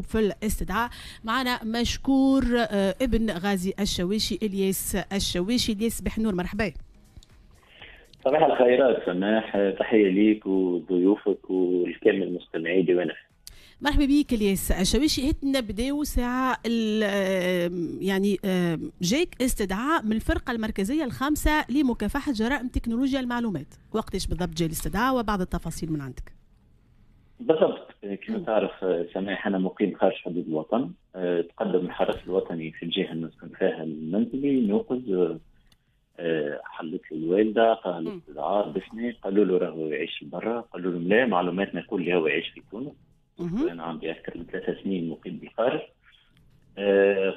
في الاستدعاء معنا مشكور ابن غازي الشواشي، الياس الشواشي. الياس بحنور، مرحبا. صباح الخيرات سماح، تحية ليك وضيوفك والكامل مستمعي ديوان. مرحبا بك الياس الشواشي. هات نبداو ساعة، يعني جاك استدعاء من الفرقة المركزية الخامسة لمكافحة جرائم تكنولوجيا المعلومات، وقتاش بالضبط جاء الاستدعاء وبعض التفاصيل من عندك؟ بالضبط، كما تعرف سماح، انا مقيم خارج حدود الوطن. تقدم الحرس الوطني في الجهة اللي نسكن فيها المنزلي نوقز، حلت له الوالده، قال الاستدعاء باسمي، قالوا له راهو يعيش برا، قالوا له لا، معلوماتنا يقول لي هو يعيش في تونس. انا عندي اكثر من 3 سنين مقيم بالخارج.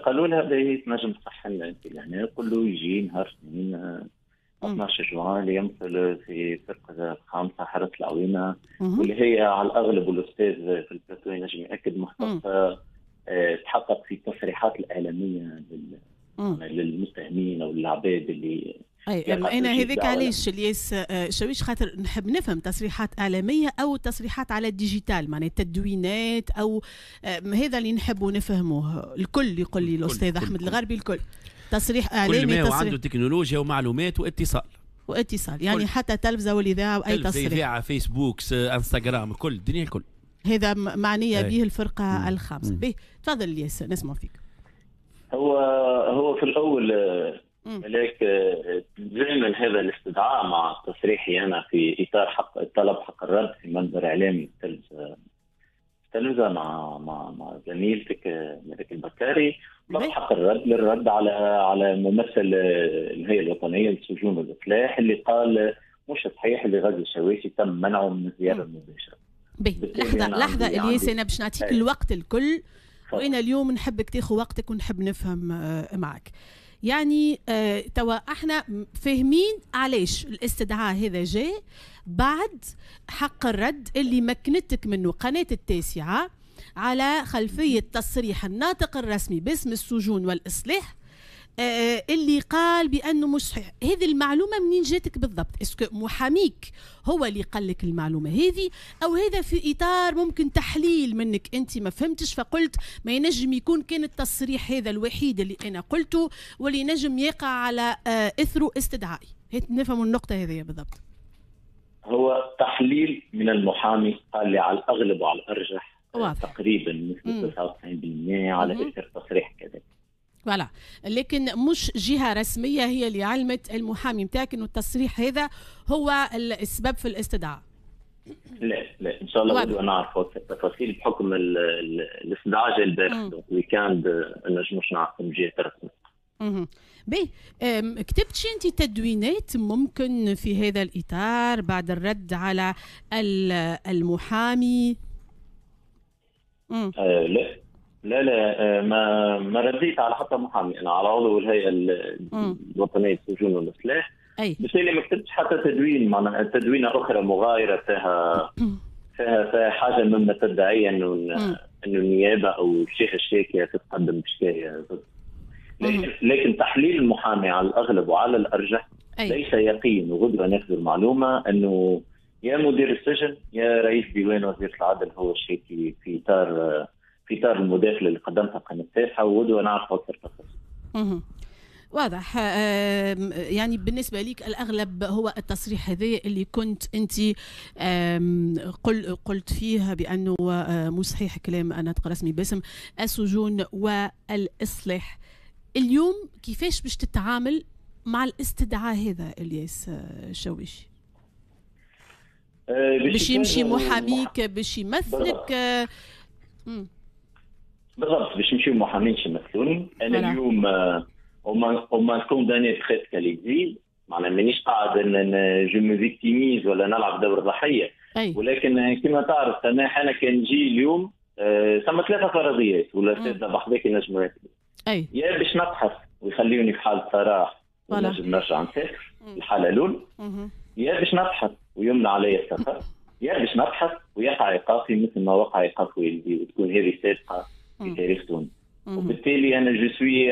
قالوا لها باهي، تنجم تصح لنا انت لهنا، قول له يجي نهار اثنين 12 جوان ليمثل في فرقة خامسة حرس العوينة، واللي هي على الأغلب، والأستاذ في البلاتو ينجم يأكد، مختصة تحقق في التصريحات الإعلامية للمتهمين أو للعباد اللي اي، انا هذاك علاش الياس شويش، خاطر نحب نفهم تصريحات اعلامية او تصريحات على ال digital، معناها تدوينات او هذا اللي نحبوا نفهموه الكل. يقول لي الاستاذ احمد الغربي الكل تصريح اعلامي. كل ما تصريح عنده تكنولوجيا ومعلومات واتصال. واتصال، يعني كل. حتى تلفزه والاذاعه واي تصريح. اذاعه، فيسبوك، انستغرام، كل الدنيا الكل. هذا معنية به الفرقة الخامسه. به، تفضل الياس، نسمع فيك. هو هو في الاول ملاك، تزامن هذا الاستدعاء مع تصريحي انا في اطار حق طلب حق الرد في منبر اعلامي التلفزة مع زميلتك ملك البكاري، طلب حق الرد للرد على ممثل الهيئة الوطنية للسجون والاصلاح اللي قال مش صحيح اللي غازي الشواشي تم منعه من الزيارة المباشره. باهي، لحظة لحظة الياس، انا باش نعطيك الوقت الكل، وانا اليوم نحبك تاخذ وقتك ونحب نفهم معك. يعني توا احنا فاهمين علاش الاستدعاء هذا جاء بعد حق الرد اللي مكنتك منه قناة التاسعة على خلفية تصريح الناطق الرسمي باسم السجون والإصلاح اللي قال بانه مش صحيح. هذه المعلومة منين جاتك بالضبط؟ est-ce que محاميك هو اللي قال لك المعلومة هذه، او هذا في اطار ممكن تحليل منك انت ما فهمتش فقلت ما ينجم يكون كان التصريح هذا الوحيد اللي انا قلته واللي نجم يقع على اثره استدعائي؟ نفهم النقطة هذه بالضبط. هو تحليل من المحامي، قال لي على الاغلب وعلى الارجح. واضح. تقريبا نسبه 99% على اثر تصريح كذا. voilà، لكن مش جهة رسمية هي اللي علمت المحامي نتاعك انه التصريح هذا هو السبب في الاستدعاء؟ لا لا، ان شاء الله غدوه نعرفوا التفاصيل بحكم الاستدعاء جا البارح، donc week-end نجموش نعرفوا من جهة رسمية. باهي، كتبت انت تدوينات ممكن في هذا الاطار بعد الرد على المحامي؟ لا لا لا، ما رديت على حتى محامي، انا على عضو الهيئة الوطنية للسجون والاصلاح. بالتالي ما كتبتش حتى تدوين، معناها تدوينه اخرى مغايرة فيها حاجة مما تدعي انه النيابة او الجهة الشاكيه تتقدم بشكايه ضد. لكن تحليل المحامي على الاغلب وعلى الارجح، ليس يقين وغدوه ناخذ المعلومه، انه يا مدير السجن يا رئيس ديوان وزيره العدل هو الشاكي في اطار المداخلة اللي قدمتها قناة التاسعه، وغدوه نعرف اكثر تفاصيل. واضح، يعني بالنسبة لك الأغلب هو التصريح هذا اللي كنت أنت قلت فيه بأنه مش صحيح كلام الناطق الرسمي باسم السجون والإصلاح. اليوم كيفاش باش تتعامل مع الاستدعاء هذا الياس الشويشي؟ باش يمشي محاميك باش يمثلك؟ بالضبط، باش يمشيو محامين يمثلوني انا. اليوم on m'a condamné presque à l'exil، معناها مانيش قاعد je me victimise ولا نلعب دور ضحيه، ولكن كما تعرف سماح، انا كان نجي اليوم ثم ثلاثة فرضيات ولا ثلاثة بحذاك ينجموا. يا باش نبحث ويخليوني في حاله سراح ونجم نرجع نسافر، الحالة الاولى. يا باش نبحث ويمنع علي السفر، يا باش نبحث ويقع ايقافي مثل ما وقع ايقاف والدي، وتكون هذه سابقه في تاريخ تونس. وبالتالي انا je suis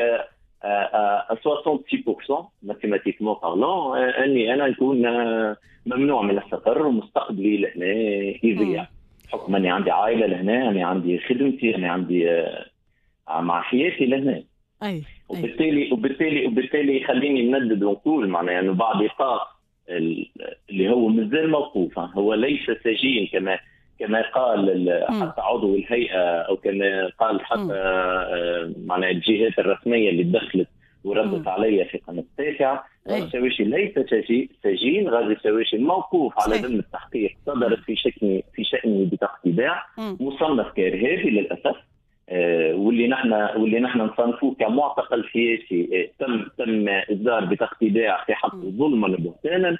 à 66% mathématiquement parlant اني انا نكون ممنوع من السفر ومستقبلي لهنا يضيع. بحكم اني عندي عائلة لهنا، اني عندي خدمتي، اني عندي مع حياتي لهنا. اي وبالتالي خليني نندد ونقول معناها انه بعد ايقاف اللي هو مازال موقوف، هو ليس سجين كما قال حتى عضو الهيئة او كما قال حتى معناها الجهات الرسمية اللي دخلت وردت علي في قناة التاسعة. غازي الشواشي ليس سجين، غازي الشواشي موقوف على ذمه التحقيق، صدرت في شأنه بطاقة ايداع، مصنف كارهابي للاسف، واللي نحن نصنفوه كمعتقل سياسي، تم اصدار بطاقة ايداع في حقه ظلما وبهتانا.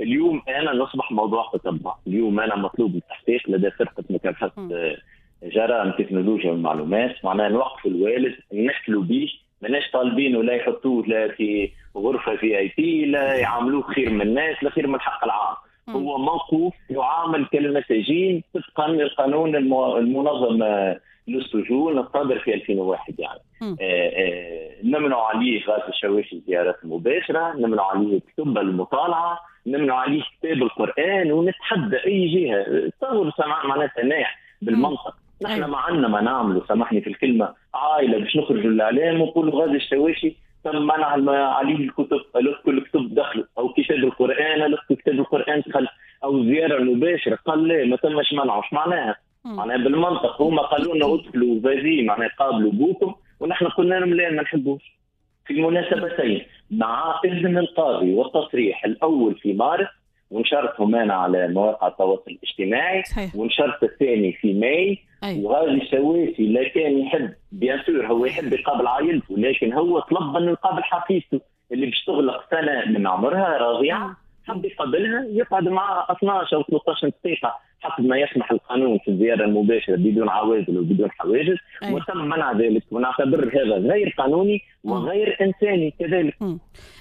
اليوم انا نصبح موضوع تتبع، اليوم انا مطلوب التحقيق لدى فرقه مكافحة جرائم التكنولوجيا والمعلومات، معناها نوقف الوالد، نحلوا به، ماناش طالبينه لا يحطوه لا في غرفة VIP، لا يعاملوه خير من الناس، لا خير من الحق العام. هو موقوف يعامل كالمساجين طبقا للقانون المنظم للسجون الصادر في 2001. يعني نمنع عليه غازي الشواشي الزيارات المباشرة، نمنع عليه كتب المطالعة، نمنع عليه كتاب القران، ونتحدى اي جهة تصور معناها سماح بالمنطق. نحن ما عندنا ما نعمله، سامحني في الكلمة، عائلة باش نخرجوا للاعلام ونقولوا غازي الشواشي تم منع عليه الكتب، كل كتب دخلوا، او كتاب القران، كتاب القران دخل، او الزيارة المباشرة، قال لا ما تمش منعه. اش معناها؟ معناها بالمنطق هما قالوا لنا ادخلوا فازي، معناها قابلوا بوكم، ونحن قلنا لهم لا ما نحبوش. في المناسبتين مع اذن القاضي والتصريح الاول في مارس، ونشرتهم انا على مواقع التواصل الاجتماعي، ونشرت الثاني في ماي. وغازي الشواشي لا كان يحب، bien sûr هو يحب يقابل عائلته، لكن هو طلب انه يقابل حفيدته اللي باش تغلق سنة من عمرها راضعه، حب يقابلها، يقعد معها 12 او 13 دقيقة حسب ما يسمح القانون في الزيارة المباشرة بدون عوازل وبدون حواجز. وتم منع ذلك، ونعتبر هذا غير قانوني وغير انساني كذلك.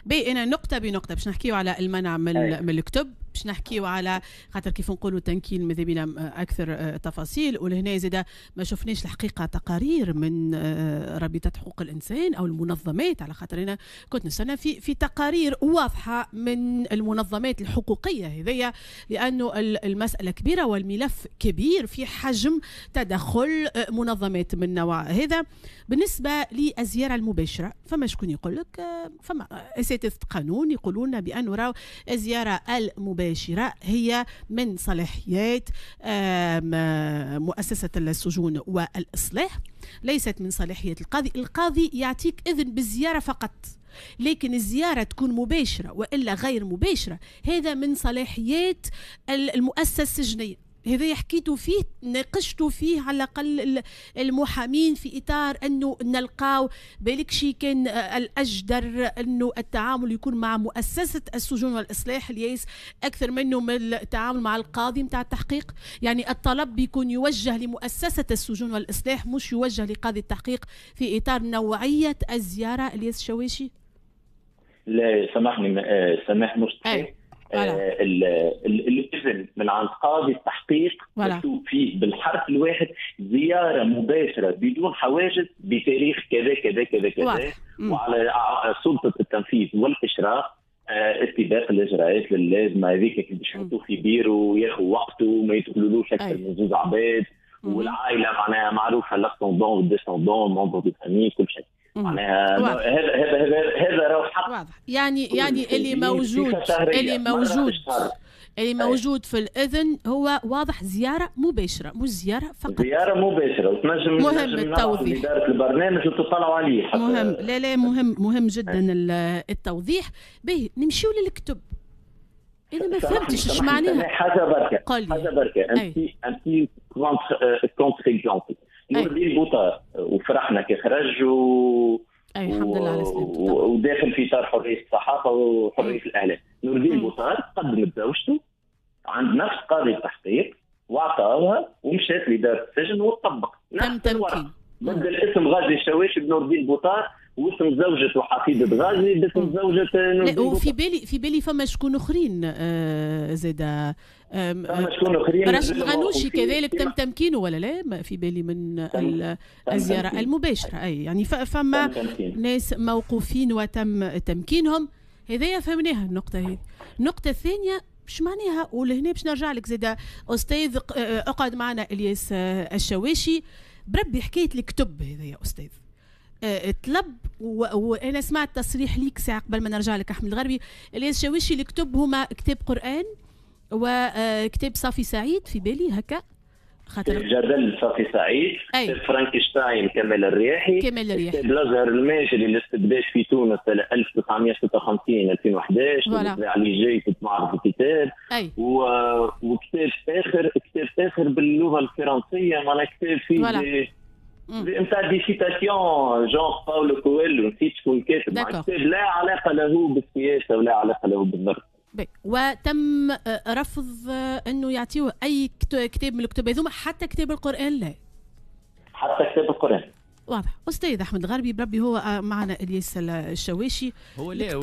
بي انا نقطة بنقطة باش نحكيو على المنع من الكتب، باش نحكيو على خاطر كيف نقولوا تنكيل ماذا بينا اكثر تفاصيل. ولهنا زاده ما شفناش الحقيقة تقارير من رابطه حقوق الانسان او المنظمات، على خاطر انا كنت نستنى في تقارير واضحة من المنظمات الحقوقية هذيا، لانه المسالة كبيرة والملف كبير في حجم تدخل منظمات من نوع هذا. بالنسبة للزيارة المباشرة، فما شكون يقول لك، فما اساتذة قانون يقولون بانه راهو الزيارة المباشرة هي من صلاحيات مؤسسة السجون والاصلاح، ليست من صلاحية القاضي. القاضي يعطيك اذن بالزيارة فقط، لكن الزيارة تكون مباشرة والا غير مباشرة هذا من صلاحيات المؤسسة السجنيه. هذا حكيتوا فيه، ناقشتوا فيه على الاقل المحامين في اطار انه نلقاو بالك شي كان الاجدر انه التعامل يكون مع مؤسسة السجون والاصلاح الياس اكثر منه من التعامل مع القاضي نتاع التحقيق. يعني الطلب يكون يوجه لمؤسسة السجون والاصلاح مش يوجه لقاضي التحقيق في اطار نوعية الزيارة. الياس الشواشي، لا سامحني، سامح مش صحيح. الاذن من عند قاضي التحقيق مكتوب فيه بالحرف الواحد زيارة مباشرة بدون حواجز بتاريخ كذا كذا كذا كذا، وعلى سلطة التنفيذ والاشراف اتباع الاجراءات اللازمة هذيك باش يحطوه في بيرو وياخذ وقته وما يدخلولوش اكثر من زوج عباد، والعائلة معناها معروفة l'ascendant وال descendant membres de famille كل شيء. معناها هذا هذا هذا راهو حق واضح. يعني اللي موجود اللي موجود في الاذن هو واضح، زيارة مباشرة مش زيارة فقط، زيارة مباشرة. وتنجم مهم التوضيح، ادارة البرنامج وتطلعوا عليه. مهم، لا لا مهم جدا التوضيح. به نمشيو للكتب. انا ما فهمتش اش معناها. حاجة بركة، حاجة بركة، un petit contre-exemple. نور الدين بوطار وفرحنا كي خرج الحمد لله على سلامته، وداخل في اطار حرية الصحافة وحريه الاعلام. نور الدين بوطار قدمت زوجته عند نفس قاضي التحقيق واعطاوها ومشات لادارة السجن وطبق تم تمكين، بدل اسم غازي الشواشي بنور الدين بوطار واسم زوجته وحفيدة غازي باسم زوجة نور الدين. وفي بالي في بالي فما شكون اخرين زاده، فما شكون اخرين، راشد الغنوشي كذلك تم تمكينه ولا لا؟ في بالي من الزيارة المباشرة. اي يعني فما ناس موقوفين وتم تمكينهم. هذايا فهمناها النقطة هذه. النقطة الثانية باش معناها؟ ولهنا باش نرجع لك زاده استاذ، اقعد معنا الياس الشواشي. بربي حكاية الكتب هذا يا استاذ طلب، وانا سمعت تصريح ليك ساعة قبل ما نرجع لك احمد الغربي. الياس الشواشي، الكتب هما كتاب قران وكتاب صافي سعيد في بالي هكا، خاطر جدل صافي سعيد، كتاب فرانكشتاين كمال الرياحي، كتاب الازهر الماجري الاستبداد في تونس سنة 1956 2011 علي جاي في معرض الكتاب، وكتاب اخر، كتاب اخر باللغة الفرنسية، معناها كتاب فيه نتاع des citations genre باولو كويلو، نسيت شكون كاتب، كتاب لا علاقة له بالسياسة ولا علاقة له بالضرب. وتم رفض انه يعطيوه اي كتاب من الكتب هذوما، حتى كتاب القران لا، حتى كتاب القران. واضح. استاذ احمد الغربي، بربي هو معنا الياس الشواشي. هو لا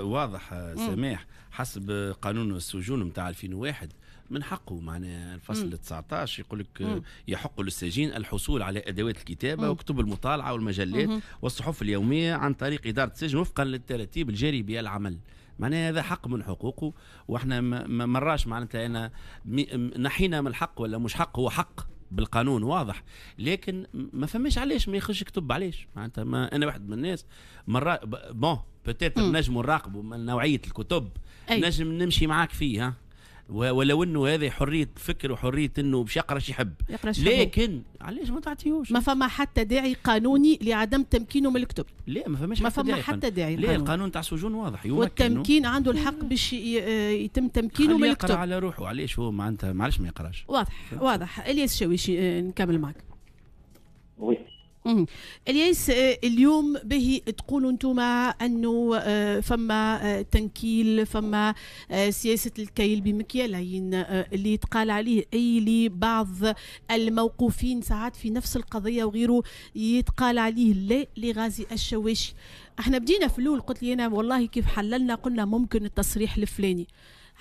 واضح سماح، حسب قانون السجون نتاع 2001 من حقه، معناها الفصل 19 يقول لك يحق للسجين الحصول على ادوات الكتابة وكتب المطالعة والمجلات والصحف اليومية عن طريق ادارة السجن وفقا للتراتيب الجاري بها العمل. معناها هذا حق من حقوقه، واحنا ما مراش معناتها انا نحينا من الحق ولا مش حق، هو حق بالقانون واضح، لكن ما فماش علاش ما يخش كتب، علاش معناتها؟ ما انا واحد من الناس مرة bon peut-être نجم نراقبوا من نوعية الكتب، نجم نمشي معاك فيه، ولو انه هذه حرية فكر وحريه انه باش يقرا شي يحب، لكن علاش ما تعطيهوش؟ ما فما حتى داعي قانوني لعدم تمكينه من الكتب. لا ما فماش، ما فما حتى داعي. لا القانون تاع السجون واضح، والتمكين عنده الحق باش يتم تمكينه من الكتب. يقرا على روحه، علاش هو معناتها معلش ما يقراش؟ واضح واضح. الياس الشويشي نكمل معك. oui الياس، اليوم به تقولوا انتم انه فما تنكيل، فما سياسة الكيل بمكيالين اللي يتقال عليه اي لبعض الموقوفين ساعات في نفس القضية وغيره يتقال عليه لا لغازي الشواشي. احنا بدينا في الاول قلت لي انا والله كيف حللنا قلنا ممكن التصريح الفلاني،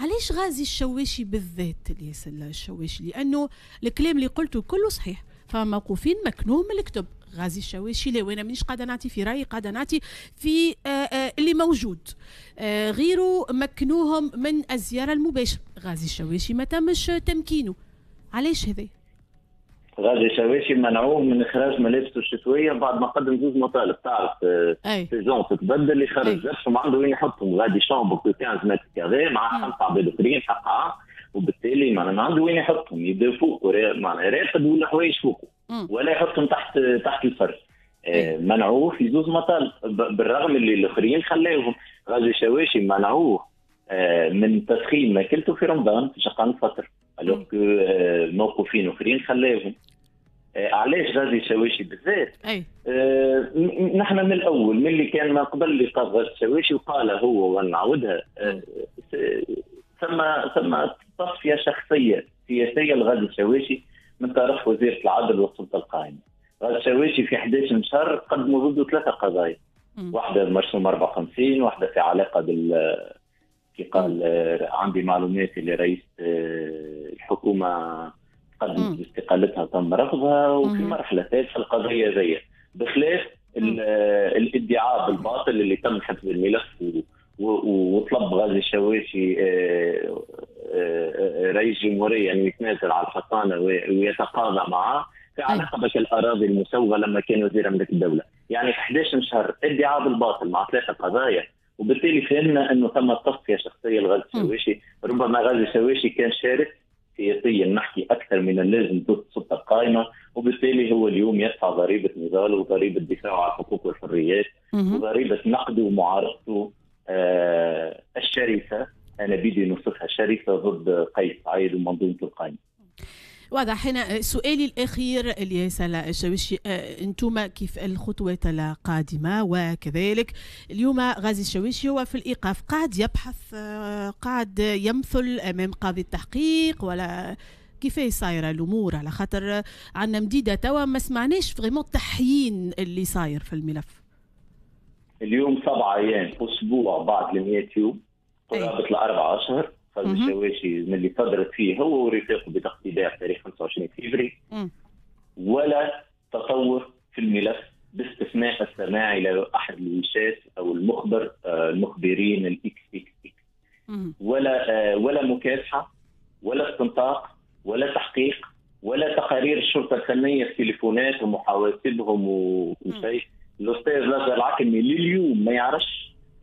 علاش غازي الشواشي بالذات الياس الشواشي؟ لانه الكلام اللي قلته كله صحيح، فموقوفين مكنوهم من الكتب، غازي الشواشي لا، وانا مانيش قاعدة نعطي في رايي، قاعدة نعطي في اللي موجود. غيره مكنوهم من الزيارة المباشرة، غازي الشواشي ما تمش تمكينه، علاش هذا؟ غازي الشواشي منعوه من اخراج ملابسه الشتوية بعد ما قدم زوج مطالب، تعرف saison تتبدل يخرج ما عنده وين يحطهم، غادي chambre 15 mètres carrés مع 5 عباد اخرين حقها، وبالتالي ما عنده وين يحطهم، يبدا فوق معناها راقد ولا حوايج فوقه ولا يحطهم تحت الفرش. منعوه في زوز مطالب بالرغم اللي الاخرين خلاوهم. غازي الشواشي منعوه من تسخين ماكلته في رمضان في شقان الفطر، alors que موقوفين اخرين خلاوهم. علاش غازي الشواشي بالذات؟ نحن من الاول من اللي كان ما قبل لقاء غازي الشواشي وقال هو ونعاودها، ثم تصفية شخصية سياسية لغازي الشواشي من طرف وزيره العدل والسلطة القائمة. غازي الشواشي في 11 شهر قدموا ضده 3 قضايا، واحدة مرسوم 54، واحدة في علاقة بال كي قال عندي معلومات اللي رئيس الحكومة قدمت باستقالتها تم رفضها، وفي مرحلة ثالثة القضية ذي، بخلاف الادعاء بالباطل اللي تم حفظ الملف وطلب غازي الشواشي رئيس جمهورية أن يتنازل على الحصانة ويتقاضى معه في علاقة بالأراضي المسوغة لما كان وزير أملاك الدولة. يعني في 11 شهر ادعاء بالباطل مع 3 قضايا، وبالتالي فهمنا أنه ثم تصفية شخصية لغازي الشواشي. ربما غازي الشواشي كان شارك سياسيا نحكي أكثر من اللازم ضد السلطة القائمة، وبالتالي هو اليوم يدفع ضريبة نضاله وضريبة دفاعه على الحقوق والحريات وضريبة نقده ومعارضته الشرسة، أنا بدي نوصفها شرسة، ضد قيس سعيد ومنظومته القائمة. واضح. هنا سؤالي الأخير الياس الشواشي، أنتم كيف الخطوات القادمة؟ وكذلك اليوم غازي الشواشي هو في الإيقاف، قاعد يبحث، قاعد يمثل أمام قاضي التحقيق، ولا كيفاش صايرة الأمور؟ على خاطر عندنا مديدة توا ما سمعناش vraiment تحيين اللي صاير في الملف. اليوم 7 أيام، أسبوع بعد 100 يوم، قرابة 4 أشهر، غازي الشواشي من اللي صدرت فيه هو ورفاقه بتقتيداع تاريخ 25 فبراير، ولا تطور في الملف باستثناء السماع الى احد الوشاة او المخبر المخبرين الاكس اكس اكس، ولا مكافاة تليفوناتهم وحواسبهم وكل شيء. الاستاذ لازهر العكرمي لليوم ما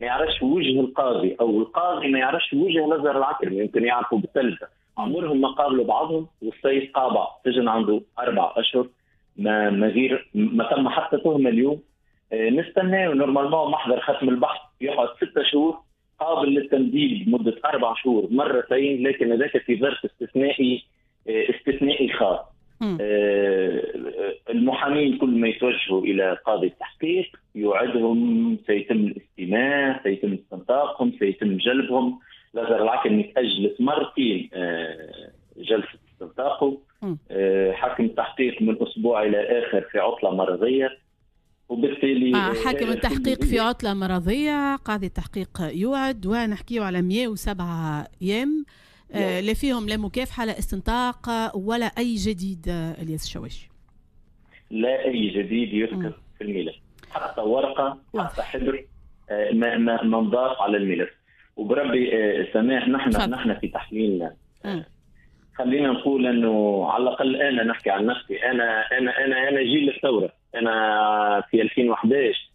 يعرفش وجه القاضي، او القاضي ما يعرفش وجه لازهر العكرمي، يمكن يعرفوا بالتلفزه، عمرهم ما قابلوا بعضهم. والسيد قابع سجن عنده 4 أشهر ما غير ما تم حتى تهمه اليوم. نستناه normalement محضر ختم البحث يقعد 6 شهور قابل للتمديد مده 4 شهور مرتين، لكن هذاك في ظرف استثنائي خاص. المحامين كل ما يتوجهوا الى قاضي التحقيق يوعدهم سيتم الاستماع، سيتم استنطاقهم، سيتم جلبهم. لازهر العكرمي تأجلت مرتين جلسه استنطاقه. حاكم التحقيق من اسبوع الى اخر في عطله مرضية، وبالتالي حاكم التحقيق في عطله مرضية، قاضي التحقيق يوعد، ونحكيه على 107 ايام لا فيهم لا مكافحة لا استنطاق ولا اي جديد. الياس الشواشي، لا اي جديد يذكر في الملف، حتى ورقة حتى حبر ما نضاف على الملف. وبربي سماح، نحن في تحليلنا خلينا نقول انه على الاقل انا نحكي عن نفسي، انا انا انا انا جيل الثورة. انا في 2011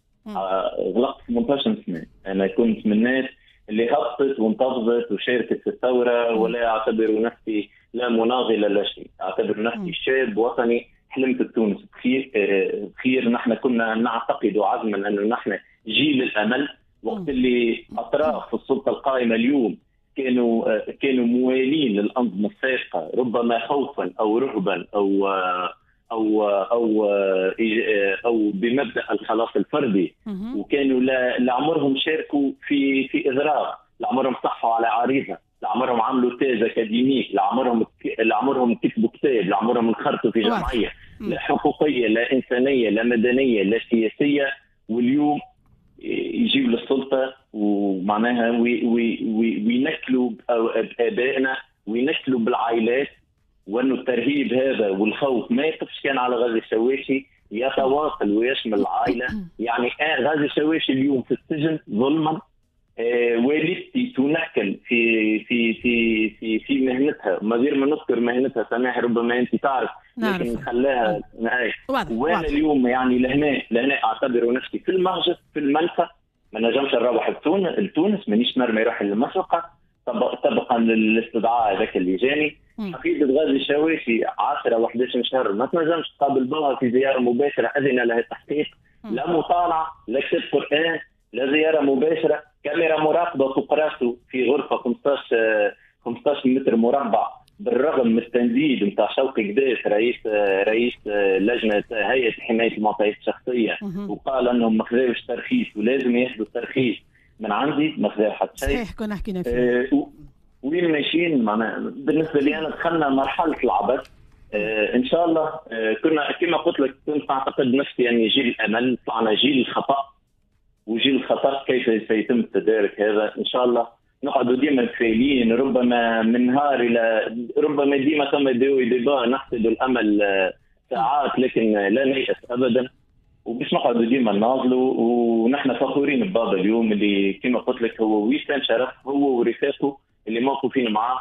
غلقت 18 سنة، انا كنت من الناس اللي هبطت وانتفضت وشاركت في الثورة، ولا اعتبر نفسي لا مناضله لا شيء، اعتبر نفسي شاب وطني حلمت بتونس بخير بخير. نحن كنا نعتقد عزما انه نحن جيل الامل، وقت اللي اطراف السلطة القائمة اليوم كانوا موالين للانظمه السابقة، ربما خوفا او رهبا او او او او بمبدا الخلاص الفردي، وكانوا لعمرهم شاركوا في اضراب، لعمرهم صحوا على عريضة، لعمرهم عملوا thèse académique، لعمرهم كتبوا كتاب، لعمرهم انخرطوا في جمعية لا حقوقيه لا انسانيه لا مدنية لا سياسية. واليوم يجيوا للسلطة ومعناها وينكلوا بابائنا وينكلوا بالعائلات، وانه الترهيب هذا والخوف ما يقفش كان على غازي الشواشي، يتواصل ويشمل العائلة. يعني غازي الشواشي اليوم في السجن ظلما، والدتي تنكل في في في في في مهنتها، ما غير ما نذكر مهنتها سماح ربما انت تعرف، لكن خلاها. وانا اليوم يعني لهنا اعتبر نفسي في المهجر في المنفى، ما نجمش نروح لتونس، مانيش نرمي روحي للمسرقه طبقا للاستدعاء هذاك اللي جاني. حفيدة غازي الشواشي 10 و 11 شهر ما تنجمش تقابل بها في زيارة مباشرة اذن لها التحقيق، لا مطالعه لا كتاب قران لا زيارة مباشرة، كاميرا مراقبة فوق راسه في غرفة 15 متر مربع، بالرغم من التنديد نتاع شوقي قداش رئيس لجنة هيئة حماية المعطيات الشخصية، وقال انهم ما خذاوش ترخيص ولازم ياخذوا الترخيص من عندي، ما خذاو حتى شيء. صحيح كنا حكينا فيه. وين ماشيين؟ معناها بالنسبة لي انا دخلنا مرحلة العبث. ان شاء الله كنا كما قلت لك كنت اعتقد نفسي يعني جيل الامل، طلعنا جيل الخطا، وجيل الخطا كيف سيتم التدارك هذا؟ ان شاء الله نقعدوا ديما متفائلين، ربما من نهار الى ربما ديما ثم ديبا نحسد الامل ساعات، لكن لا نيأس ابدا، وباش نقعدوا ديما نناضلوا. ونحن فخورين ببابا اليوم اللي كما قلت لك هو وسام شرف، هو ورفاقه اللي موقوفين معاه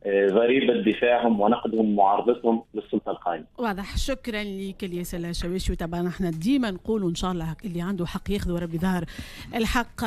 ضريبة دفاعهم ونقدهم ومعارضتهم للسلطة القائمة. واضح، شكرا لك الياس الشواشي. وطبعا احنا ديما نقولوا ان شاء الله اللي عنده حق ياخذ وربي ظهر الحق.